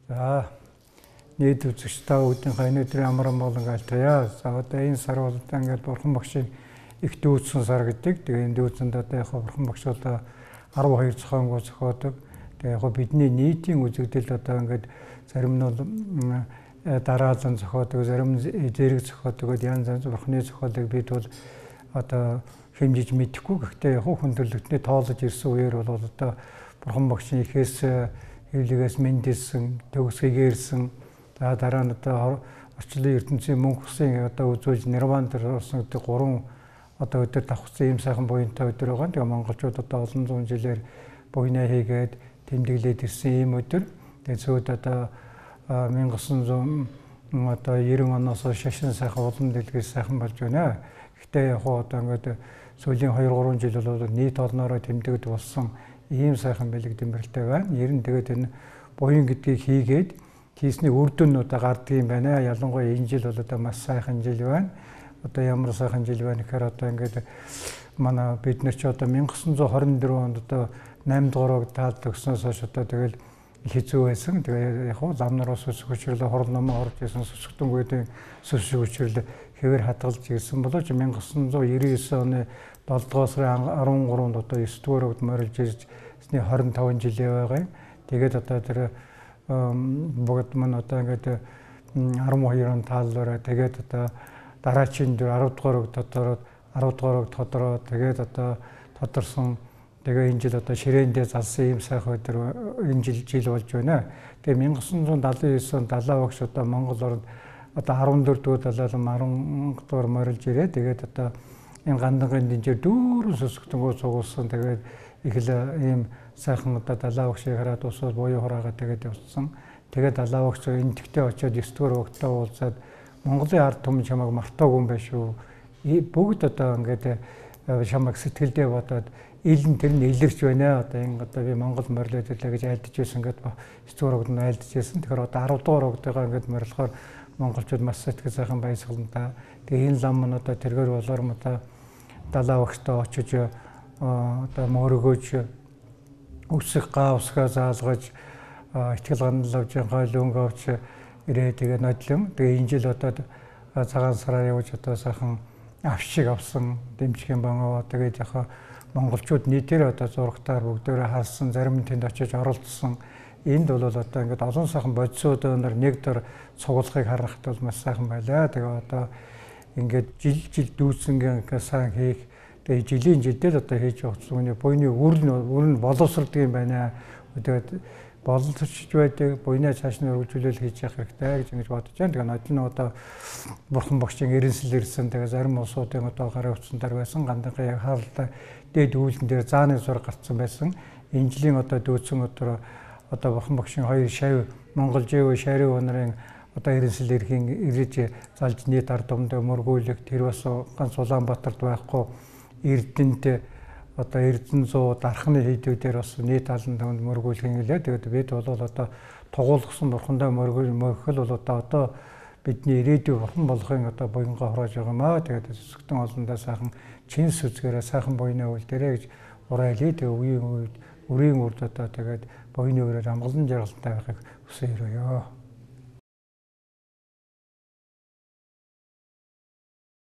За нийт үзэгч та бүдийнхээ өнөөдрийн амран болон альтаяа. За одоо энэ сар бол одоо ингээд бурхан багшийн их дүүцсэн сар гэдэг. Тэгээ энэ дүүцэнд одоо яг бурхан багш одоо 12 зохионгоо зохиодог. Тэгээ яг бидний нийтийн үзэгдэл одоо ингээд зарим нь бол дараалан зохиодог, зарим нь зэрэг зохиодог, янз янз бурханы зохиолыг бид бол одоо хэмжиж мэдэхгүй. Гэхдээ яг хүндрэлтний тоолж ирсэн үеэр бол одоо бурхан багшийн ихээс хэвлэгээс мэндэлсэн, төгсгийгээрсэн, за дараа нь одоо орчлон ертөнцийн мөнх усын одоо үзүүлж нирван дээр орсон гэдэг 3 одоо өдөр давхцсан ийм сайхан буянтай өдөр байгаа. Тэгээ монголчууд одоо олон зуун жилээр буйнаа хийгээд тэмдэглээд ирсэн ийм өдөр. Тэгээ зөөд одоо 1900 одоо 90 оноос шашин сайхан улам дэлгээс сайхан болж байна. Гэхдээ яг одоо ингээд сүүлийн 2-3 жил бол нийт олноороо тэмдэгд болсон ийм сайхан бэлэг дэмбэрэлтэй байна. Ер нь тэгээд энэ буян гэдгийг хийгээд хийсний үр дүн одоо гардаг юм байна. Ялангуяа энэ жил бол одоо маш сайхан жил байна. Одоо ямар сайхан жил байна гэхээр одоо ингээд манай бид нар ч одоо 1924 онд одоо 8 дугаарыг таалд өгснөөс хойш одоо тэгэл хэцүү байсан. Тэгээ яг лам нараас сүсэг хүчрэл хорон номоо орж исэн сүсгтөнгүүдийн сүсэг хүчрэл хэвээр хадгалж ирсэн боловч 1999 оны 7 дугаар сарын 13-нд одоо 9 дугаард морилж ирсний 25 жилээ байгаа юм. Тэгээд одоо тэр бүгд мань одоо ингээд 12 он тааллаараа тэгээд одоо дараачийн 10 дугаарыг тодороод 10 дугаарыг тодороо тэгээд одоо тодорсон тэгээ энэ жил одоо ширээндээ залсан ийм сайхан өдөр энэ жил болж байна. Тэгээ 1979 онд далаа багш одоо Монгол орнд одоо 14 дугаар далаалан 10 дугаар морилж ирээ. Тэгээд одоо энэ гандангийн дэнжээр дүүрэн сүсгтэнгөө цугулсан. Тэгээд их л ийм сайхан одоо далаа багшийг хараад усвал буюу хураагаа тэгээд явсан. Тэгээд далаа багш энэ тэгтээ очиод 9 дугаар өгтөө уулзаад Монголын ард түмэн чамайг мартаагүй юм байна шүү. Бүгд одоо ингээд чамайг сэтгэлдээ бодоод илэн тэр нь илэрч байна. Одоо энэ одоо би Монгол морилоод ирлээ гэж айлдаж байсан ингээд 9 дугаар өгд нь айлдаж байсан. Тэгэхээр одоо 10 дугаар өгдөөгөө ингээд морилохоор монголчууд маш сэтгэл сайхан баясгалантай. Тэгээ энэ лам нь одоо тэргээр болоор мата далаа багштай очиж одоо мөрөгөөж өсөх гаавсгаа заалгаж ихтгэл ганал авч хойл өнгө авч ирээ. Тэгээ нодлон. Тэгээ энэ жил одоо цагаан сараар явж одоо сайхан авшиг авсан дэмжих юм байгаа. Тэгээд яг монголчууд нийтээр одоо зурагтаар бүгдээрээ харсан, зарим нь тэнд очиж оролцсон. Энд бол одоо ингээд олон сайхан бодисуудаар нэг дор цуглахыг харахад бол маш сайхан байлаа. Тэгээ одоо ингээд жил дүүцэнгийн сайн хийх. Тэгээ жилийн жилдээ одоо хийж явах зүгний буйны үр нь боловсролдог юм байна. Тэгээд боловсрч байдаг буйнаа цааш нь өргөжүүлэл хийж явах хэрэгтэй гэж ингэж бодож байна. Тэгээ нодлон одоо бурхан багшийн эренсэл ирсэн. Тэгээ зарим улсуудын одоо гарын утсандар байсан гандангийн яг хаалта дээд үүлэн дээр зааны зураг гарцсан байсан. Энэ жилийн одоо дүүцэн өдөр одоо бурхан багшийн 2 шав Монгол Жэв шарив нарын одоо эренсэл эрхийн ирж залж нийт ард түмэнд мөргүүлэх тэр бас ганц Улаанбаатарт байхгүй Эрдэнэт одоо Эрдэнэ 100 дархны хийдүүдээр бас нийт алан төвөнд мөргүүлэх гэлээ. Тэгээд бид бол одоо тугуулгасан бурхандаа мөргөл бол одоо бидний ирээдүйн бурхан болохын одоо буянгаа хороож байгаа юм аа. Тэгээд сүсгтэн олондоо сайхан чин сүзгээрээ сайхан буйнаа үлдээрэй гэж уриалъя. Тэгээ үеийн үед үрийн үрд одоо тэгээд буйны өрөөр амгалан жаргалтай байхыг хүсэж өрөөё.